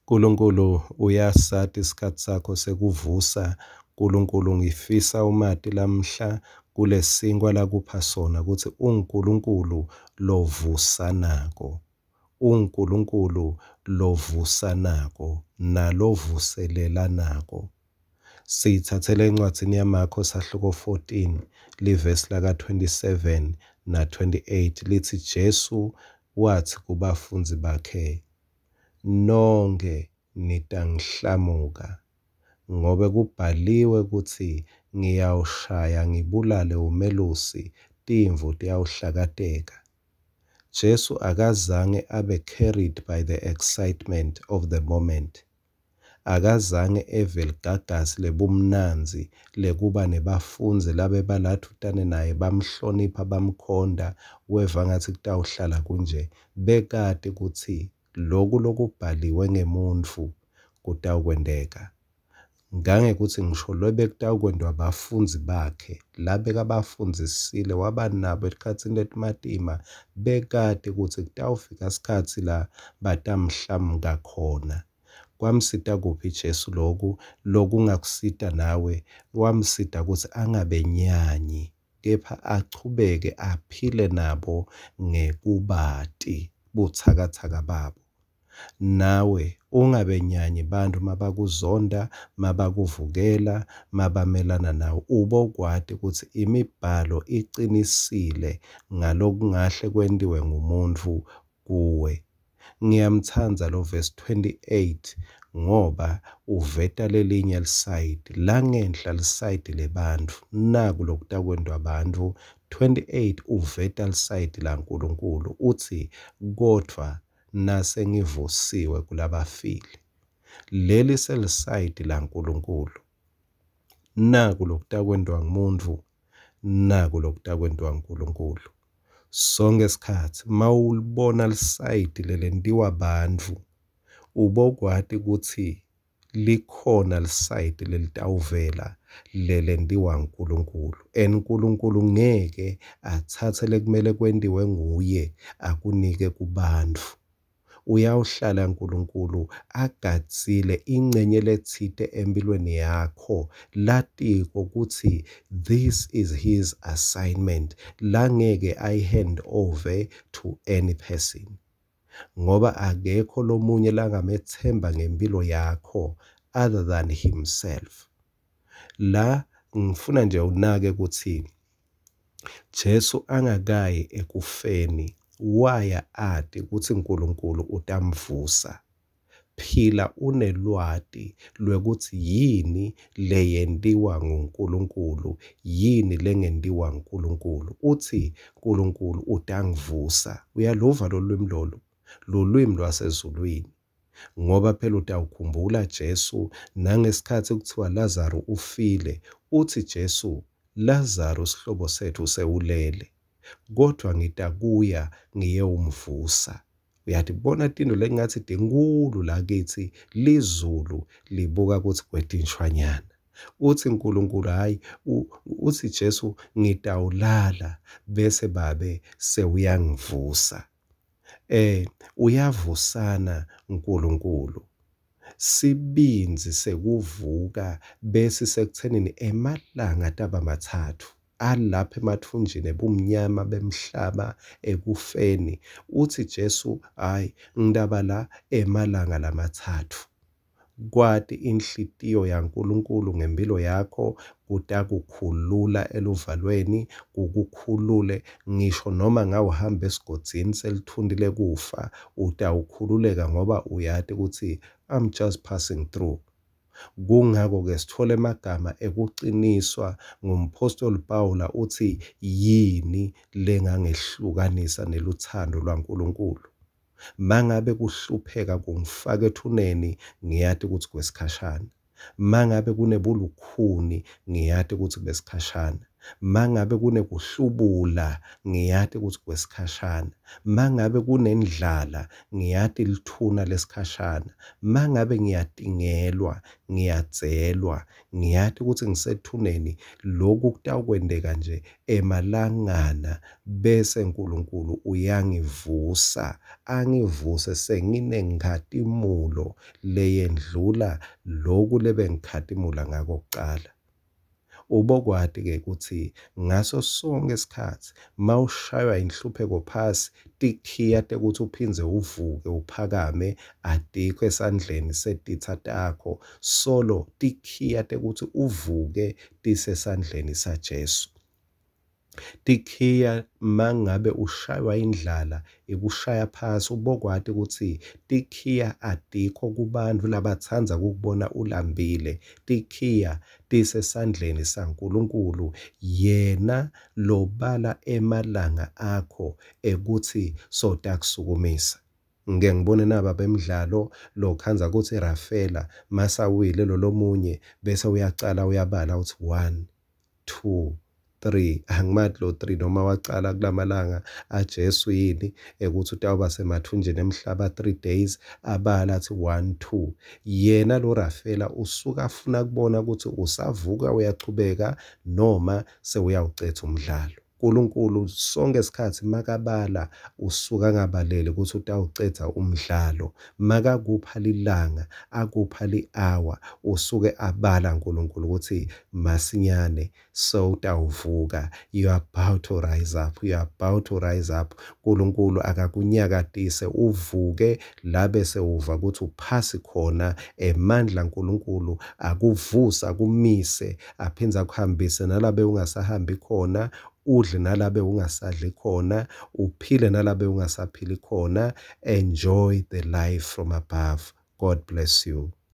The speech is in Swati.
Nkulunkulu uyasati isikhathi sakho sekuvusa. Nkulunkulu ngifisa umati lamhla kulesinkwa lakupha sona kutsi unguNkulunkulu lovusanako. UnguNkulunkulu lovusanako nalovuselelako. Siyitsatsele encwadzini yaMakho sahluko 14 livesi laka-27 na-28 litsi Jesu watsi kubafundzi bakhe, nonkhe nitangihlamuka, ngobe kubhaliwe kutsi ngiyawushaya ngibulale umelusi, timvu tiyawuhlakateka. Jesu akazange abe carried by the excitement of the moment. Akazange eve ligagasi lebumnandzi lekuba nebafundzi labebaladvutane naye bamhlonipha bamkhonda, weva ngatsi kutawuhlala kunje. Bekati kutsi loku lokubhaliwe ngemuntfu kutawukwenteka. Ngangekutsi ngisho lobekutawukwentiwa bafundzi bakhe labekabafundzisile waba nabo etikhatsini letimatima, bekati kutsi kutawufika sikhatsi la batamhlamuka khona. Kwamsita kuphi Jesu loku lokungakusita nawe? Kwamsita kutsi angabenyanyi kepha achubeke aphile nabo ngekubati butsakatsaka babo. Nawe ungabenyanyi bantfu mabakuzonda, mabakuvukela, mabamelana nawe. Ubokwati kutsi imibhalo icinisile ngalokungahle kwentiwe ngumuntfu kuwe. Ngiyamtsandza lo verse 28 ngoba uveta lelinye lisayidi langenhla lisayidi lebantfu naku lokutakwentwa bantfu 28 uveta lisayidi laNkulunkulu utsi kodvwa nasengivusiwe kulabafile leli selisayidi laNkulunkulu naku lokutakwentwa ngumuntu naku lokutakwentwa nguNkulunkulu. Sonke isikhathi mawulibona lisayidi lelentiwa bantfu ubokwati kutsi likhona lisayidi lelitawuvela lelentiwa nguNkulunkulu and uNkulunkulu ngeke atsatse lekumele kwentiwe nguye akunike kubantfu. Uyawuhlala uNkulunkulu agadzile ingcenye letsite empilweni yakho latiko kutsi this is his assignment langeke ayi-hand over to any person ngoba akekho lomunye langamethemba ngempilo yakho other than himself. La ngifuna nje unake kutsi Jesu angakayi ekufeni waya ati kutsi uNkulunkulu utamvusa. Phila unelwati lwekutsi yini leyentiwa nguNkulunkulu, yini lengentiwa nguNkulunkulu. Utsi uNkulunkulu utangivusa. Uyaluva lolwimi lolu, lulwimi lwasezulwini. Ngoba phela utawukhumbula Jesu nangesikhatsi kuthiwa Lazaro ufile, utsi Jesu, Lazaro sihlobo setfu sewulele, kodvwa ngitakuya ngiyewumvusa. Uyatibona tintfo lekungatsi tinkhulu lakitsi, lizulu libuka kutsi kwetinshwanyana. Utsi uNkulunkulu hhayi, utsi Jesu ngitawulala bese babe sewuyangivusa. Uyavusana uNkulunkulu. Sibindzi sekuvuka bese sekuthenini emalanga taba matsatfu alapha emathunjini ebumnyama bemhlaba ekufeni. Utsi Jesu hhayi ngitaba la emalanga lamatsatfu. Kwati inhlitiyo yaNkulunkulu ngempilo yakho kutakukhulula eluvalweni, kukukhulule ngisho noma ngawuhamba esigodzini selithundi lekufa, utawukhululeka ngoba uyati kutsi I'm just passing through. Kungako-ke sithola emagama ekuciniswa ngumphostoli Pawula utsi yini lengangehlukanisa neluthando lwaNkulunkulu. Mangabe kuhlupheka kungifaka ethuneni, ngiyati kutsi kwesikhashana. Mangabe kunebulukhuni, ngiyati kutsi besikhashana. Mangabe kunekuhlubula, ngiyati kutsi kwesikhashana. Mangabe kunendlala, ngiyati lithuna lesikhashana. Mangabe ngiyatingelwa, ngiyadzelwa, ngiyati kutsi ngisethuneni, loku kutawukwenteka nje emalangana bese Nkulunkulu uyangivusa, angivuse senginenkhatimulo leyendlula loku lebengikhatimula ngako kucala. Ubokwati-ke kutsi ngaso sonkhe sikhatsi mawushaywa inhlupheko phasi, tikhiya tekutsi uphindze uvuke uphakame atikho esandleni setitsa takho, solo tikhiya tekutsi uvuke tisesandleni saJesu. Tikhiya mangabe ushaywa indlala ikushaya phasi ubokwati kutsi tikhiya atikho kubantfu labatsandza kukubona ulambile. Tikhiya tisesandleni saNkulunkulu, yena lobala emalanga akho ekutsi sotakusukumisa. Ngike ngibone naba bemdlalo lokhandza kutsi Rafela masawile lolomunye bese uyacala uyabala utsi 1 2 3 angimati lo 3 noma wacala kulamalanga aJesu yini ekuthi utawuba semathunjini emhlaba 3 days abala athi 1 2 yena lo Rafela usuka afuna kubona ukuthi usavuka uyachubeka noma sewuyawucetha umdlalo. Nkulunkulu sonke isikhathi makabala usuka angabaleli ukuthi utawucedza umdlalo. Makakupha lilanga, akupha li-hour, usuke abala Nkulunkulu ukuthi masinyane sewutawuvuka. You are about to rise up, you are about to rise up. Nkulunkulu akakunyakatise uvuke labe sewuva ukuthi uphasi khona emandla Nkulunkulu akuvusa akumise aphindze akuhambise nalabe ungasahambi khona, udle nalabe ungasadli khona, uphile nalabe ungasaphili khona. Enjoy the life from above. God bless you.